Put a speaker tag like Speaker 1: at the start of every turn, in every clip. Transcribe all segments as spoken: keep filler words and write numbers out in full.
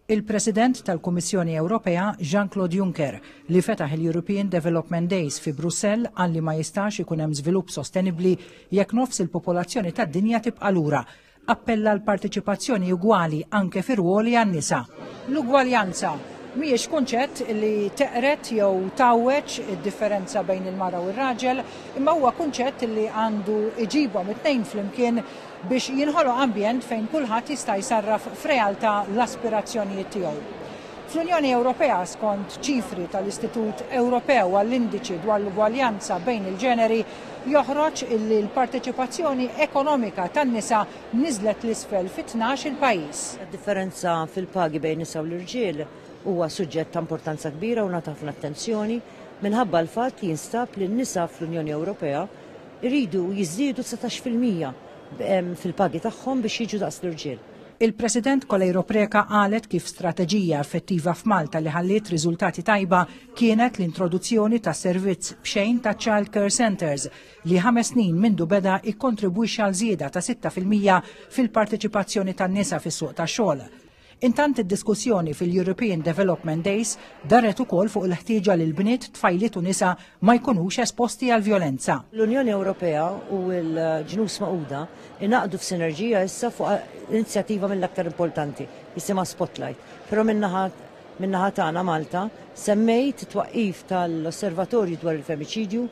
Speaker 1: Il-President tal-Kummissjoni Ewropea Jean-Claude Juncker, li fetaħ il-European Development Days fi Brussell, qal li ma jistax ikun hemm żvilupp sostenibbli jekk nofs il-popolazzjoni tad-dinja tibqa' lura. Appella l-parteċipazzjoni ugwali anke fir-ruoli għan-nisa. L-ugwaljanza mhijiex kunċett li teqred jew tgħawweġ id-differenza bejn il-mara u r-raġel, imma huwa kunċett li għandu iġibhom it-tnejn flimkien biex jinħoloq ambjent fejn kulħadd jista' jsarraf f'realtà l-aspirazzjonijiet tiegħu. Fl-Unjoni Ewropea, skont ċifri tal-Istitut Ewropew għall-Indiċi dwar l-Ugwaljanza bejn il-ġeneri, joħroġ illi l-parteċipazzjoni ekonomika tan-nisa niżlet l-isfel fi tnax il-pajjiż.
Speaker 2: Differenza fil-pagi bejn nisa u l-irġiel huwa suġġett ta' importanza kbira u ngħata ħafna attenzjoni minħabba l-fatt li jinstab li n-nisa fl-Unjoni Ewropea jridu jiżdiedu dsatax fil-mija fil-pagi tagħhom biex jiġu daqs l-irġiel.
Speaker 1: Il-President Coleiro Preca qalet kif strateġija effettiva f'Malta li ħalliet riżultati tajba kienet l-introduzzjoni ta' servizz b'xejn ta' Child Care Centers, li ħames snin mindu beda ikkontribwixxa għal żieda ta' sitta fil-mija fil-parteċipazzjoni tan-nisa fis-suq tax-xogħol. Intant, id-diskussjoni fil-European Development Days daret ukoll fuq il-ħtieġa li l-bniet, tfajliet u nisa ma jkunux esposti għal violenza.
Speaker 2: L-Unjoni Ewropea u l-Ġnus Magħquda ingħaqdu f'sinerġija issa fuq inizjattiva mill-aktar importanti, jisimha Spotlight. Però min-naħa min-naħa tagħna Malta semmejt twaqqif tal-Osservatorju dwar il-Femiċidju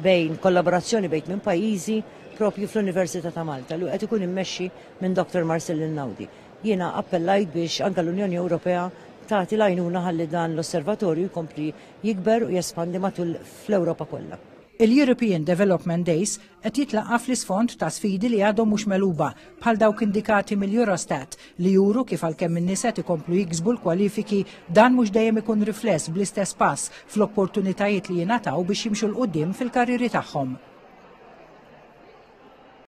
Speaker 2: bejn kollaborazzjoni bejn minn pajjiżi propju fl-Università ta' Malta li qed ikun immexxi minn Doktor Marcellin Naudi. Jiena appellajt biex anka l-Unjoni Ewropea tagħti l-għajnuna ħalli dan l-osservatorju jkompli jikber u jespandi matul fl-Ewropa kollha.
Speaker 1: Il-European Development Days qed jitlaqqa fl-isfond ta' sfidi li għadhom mhux megħluba, bħal dawk indikati mill-Eurostat, li juru kif għalkemm in-nisa ikomplu jiksbu l-kwalifiki, dan mhux dejjem ikun rifless bl-istess pass fl-opportunitajiet li jingħataw biex jimxu 'l quddiem fil-karriri tagħhom.